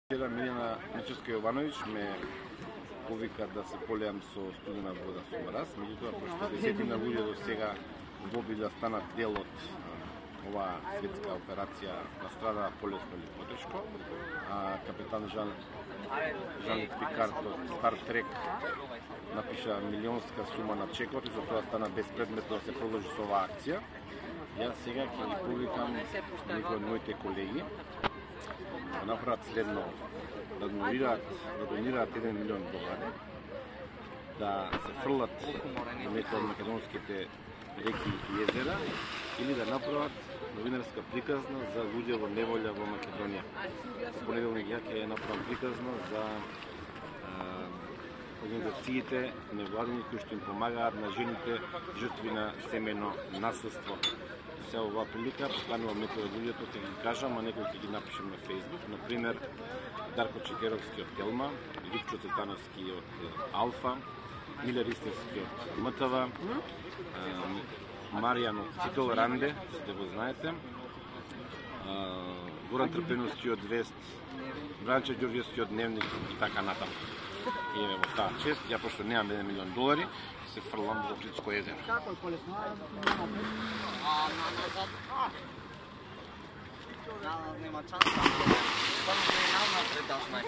Вчера Милена Мичевска Јовановиќ ме повика да се полеам со студена вода со мраз, меѓутоа пошто десетина луѓе до сега добили да станат дел од оваа светска операција, настрадаа полесно или потешко. Капетан Жан-Люк Пикард од Стар Трек напиша милионска сума на чекот и затоа стана безпредметно да се продолжи со оваа акција. Јас сега ќе ги повикам некои од моите колеги да направат следно, да донираат 1 милион долари, да се фрлат на некои од македонските реки и езера или да направат новинарска приказна за луѓе во неволја во Македонија. Во понеделник ја ќе направам приказна за организациите невладини кои што им помагаат на жените жртви на семејно насилство. Сега оваа прилика поканувам некои од луѓето ќе ги кажам, а некои ќе ги напишем на Facebook. Например, Дарко Чекеровски од Телма, Лјупчо Цветановски од Алфа, Миле Ристевски од МТВ, Маријан од Цитол Ранде, сите го знаете, Горан Трпеновски од Вест, Бранче Ѓорѓевски од Дневник и така натаму. И во таа чест, ја пошто немам 1 милион долари, се фрлам во Плитско езеро. Како е полесно? Нема шанса. Само не напред да знаеш.